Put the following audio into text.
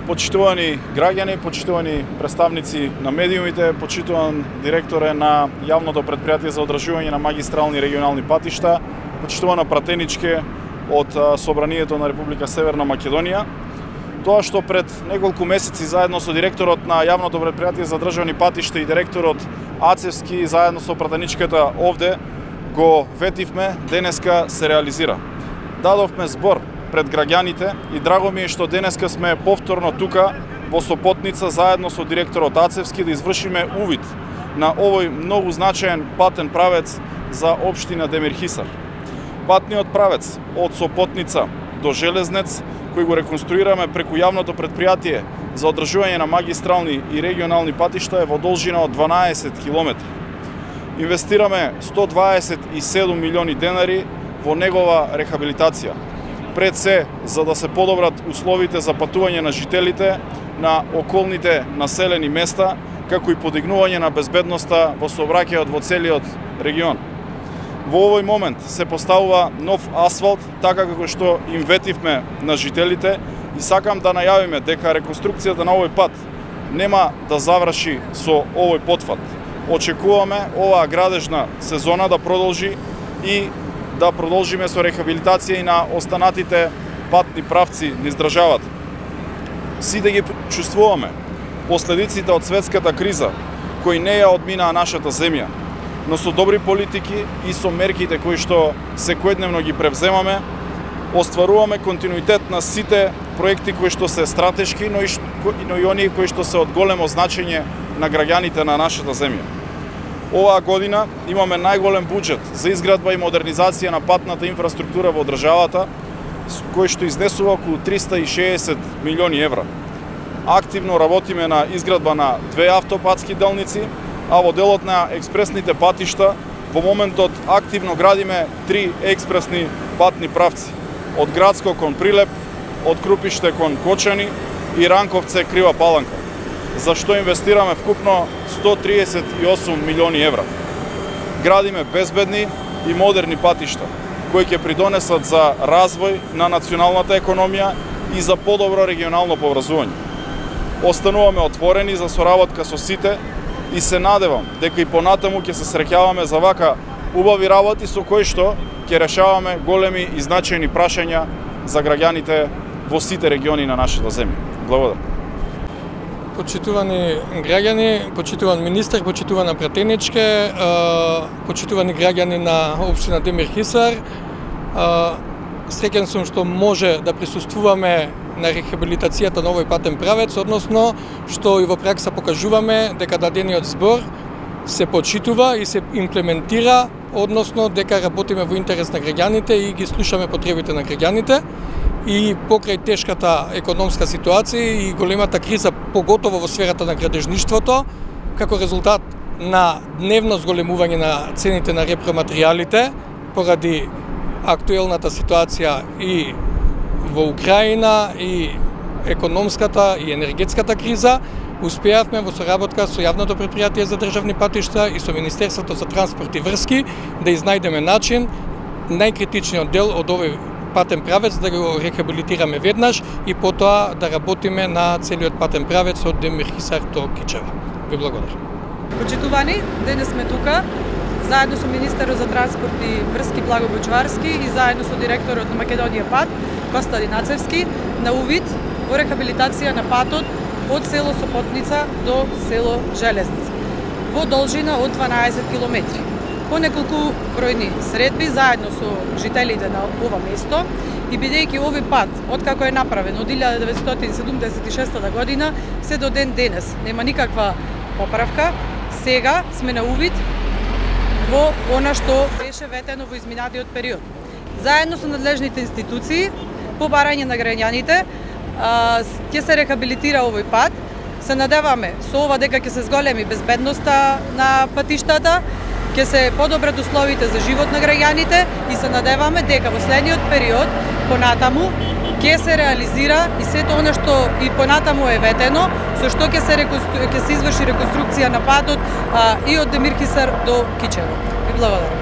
Почитувани граѓани, почитувани представници на медиумите, почитуван директоре на јавното претпријатие за одржување на магистрални и регионални патишта, почитувана пратеничке од Собранието на Република Северна Македонија. Тоа што пред неколку месеци заедно со директорот на јавното претпријатие за државни патишта и директорот Ацевски заедно со пратеничката овде го ветивме, денеска се реализира. Дадовме збор пред граѓаните и драго ми е што денеска сме повторно тука во Сопотница заедно со директорот Ацевски да извршиме увид на овој многу значаен патен правец за општина Демирхисар. Патниот правец од Сопотница до Железнец, кој го реконструираме преку јавното претпријатие за одржување на магистрални и регионални патишта е во должина од 12 километри. Инвестираме 127 милиони денари во негова рехабилитација. Пред се, за да се подобрат условите за патување на жителите на околните населени места, како и подигнување на безбедноста во сообраќајот во целиот регион. Во овој момент се поставува нов асфалт, така како што им ветивме на жителите, и сакам да најавиме дека реконструкцијата на овој пат нема да заврши со овој потфат. Очекуваме оваа градежна сезона да продолжи и да продолжиме со рехабилитација и на останатите патни правци низ државата. Сите ги чувствуваме последиците од светската криза, кои не ја одминаа нашата земја, но со добри политики и со мерките кои што секојдневно ги превземаме, остваруваме континуитет на сите проекти кои што се стратешки, но и оние кои што се од големо значење на граѓаните на нашата земја. Оваа година имаме најголем буџет за изградба и модернизација на патната инфраструктура во државата, кој што изнесува околу 360 милиони евра. Активно работиме на изградба на 2 автопатски делници, а во делот на експресните патишта во моментот активно градиме 3 експресни патни правци. Од Градско кон Прилеп, од Крупиште кон Кочани и Ранковце Крива Паланка, за што инвестираме вкупно 138 милиони евра. Градиме безбедни и модерни патишта, кои ќе придонесат за развој на националната економија и за подобро регионално поврзување. Остануваме отворени за соработка со сите и се надевам дека и понатаму ќе се среќаваме за вака убави работи со кои што ќе решаваме големи и значајни прашања за граѓаните во сите региони на нашата земја. Благодарам. Почитувани граѓани, почитуван министер, почитувана пратеничке, почитувани граѓани на општина Демирхисар, среќен сум што може да присуствуваме на рехабилитацијата на овој патен правец, односно што и во пракса покажуваме дека дадениот збор се почитува и се имплементира, односно дека работиме во интерес на граѓаните и ги слушаме потребите на граѓаните. И покрај тешката економска ситуација и големата криза, поготово во сферата на градежништвото, како резултат на дневно зголемување на цените на репроматеријалите поради актуелната ситуација и во Украина и економската и енергетската криза, успеавме во соработка со јавното претпријатие за државни патишта и со Министерството за транспорт и врски да изнајдеме начин најкритичниот дел од овој патен правец да го рехабилитираме веднаш и потоа да работиме на целиот патен правец од Демирхисар до Кичево. Ви благодарам. Почитувани, денес сме тука заедно со министерот за транспорт и врски Благо Бочварски и заедно со директорот на Македонија пат Костадин Ацевски на увид во рехабилитација на патот од село Сопотница до село Железница во должина од 12 километри. По неколку бројни средби заедно со жителите на ова место и бидејќи овој пат, откако е направен од 1976 година, се до ден денес нема никаква поправка, сега сме на увид во она што беше ветено во изминатиот период. Заедно со надлежните институции, по барање на граѓаните, ќе се рехабилитира овој пат. Се надеваме со ова дека ќе се зголеми безбедноста на патиштата, ќе се подобрат условите за живот на граѓаните и се надеваме дека во следниот период понатаму ќе се реализира и сето она што и понатаму е ветено, со што ќе се изврши реконструкција на патот и од Демирхисар до Кичево. Ви благодарам.